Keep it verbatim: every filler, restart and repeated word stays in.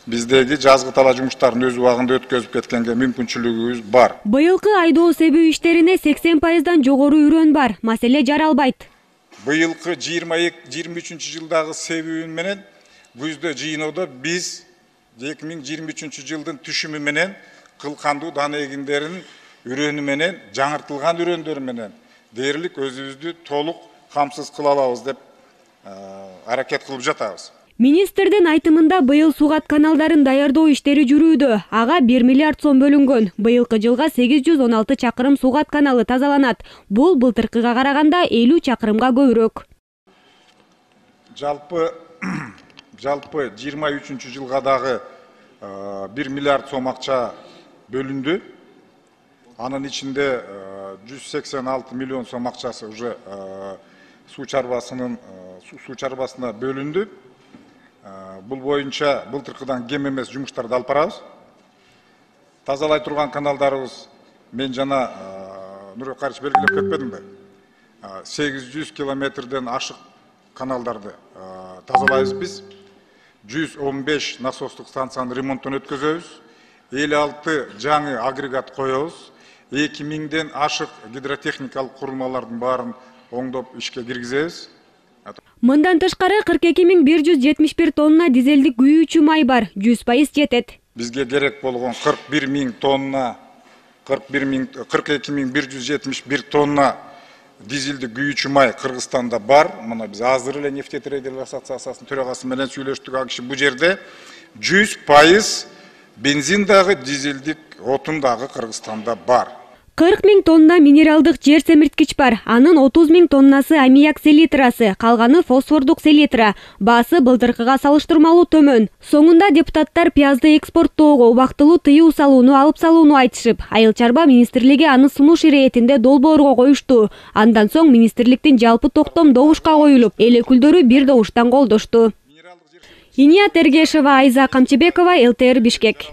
биздеги жазгы тала жумуштарын өз убагында өткөзүп кеткенге мүмкүнчүлүгүбүз бар. Быйылкы айдоо себүү иштерине сексен пайыздан жогору үрөн бар. Маселе жаралбайт. Быйылкы жыйырма эки жыйырма үчүнчү жылдагы себүү менен күздө жыйноодо биз эки миң жыйырма үчүнчү жылдын түшүмү менен кылкандуу дан эгиндеринин үрөнү менен жаңыртылган үрөндөр менен дээрлик өзүбүздү толук камсыз кыла алабыз деп аракет кылып жатабыз. Министрдин айтымында быйыл сугат каналдарын даярдоо иштери жүрүүдө. Ага бир миллиард сом бөлүнгөн. Быйылкы жылга сегиз жүз он алты чакырым сугат каналы тазаланат. Бул былтыркыга караганда элүү чакырымга көбүрөөк. Жалпы жалпы жыйырма үчүнчү жылга дагы бир миллиард сом акча бөлүндү. Анын ичинде жүз сексен алты миллион сом акчасы уже суу чарбасынын суу чарбасына бөлүндү. Бул боюнча былтыркыдан кем эмес жумуштарды алып барабыз. Тазалай турган каналдарыбыз мен жана Нурбек Карич белгилеп кетпедимби? сегиз жүз километрден ашык каналдарды тазалайбыз биз. жүз он беш насостук станциянын ремонтун өткөзөбүз. элүү алты жаңы агрегат коебуз. эки миңден ашык гидротехникалык курулмалардын баарын оңдоп ишке киргизебиз. Мындан тышкары кырк эки миң бир жүз жетимиш бир тонна дизелдик күйүүчү май бар, жүз пайыз жетет. Бизге керек болгон кырк бир миң тонна, кырк эки миң бир жүз жетимиш бир тонна дизелдик күйүүчү май Кыргызстанда бар. Мына биз азыр эле нефтетрейдерлер ассоциациясынын төрагасы менен сүйлөштүк. Ал киши бул жерде жүз пайыз бензин дагы дизелдик отун дагы Кыргызстанда бар. кырк миң тонна минералдык жер семирткич бар. Анын отуз миң тоннасы аммиак селитрасы, калганы фосфордук селитра. Баасы былтыркыга салыштырмалуу төмөн. Соңунда депутаттар пиязды экспорттоого убактылуу тыюу салууну алып салууну айтышып, Айыл чарба министрлиги аны сунуш иретинде долбоорго коюшту. Андан соң министрликтин жалпы токтом добушка коюлуп, эл өкүлдөрү бир добуштан колдошту. Иния Тергешева, Айза Камчыбекова, эл тэ эр Бишкек.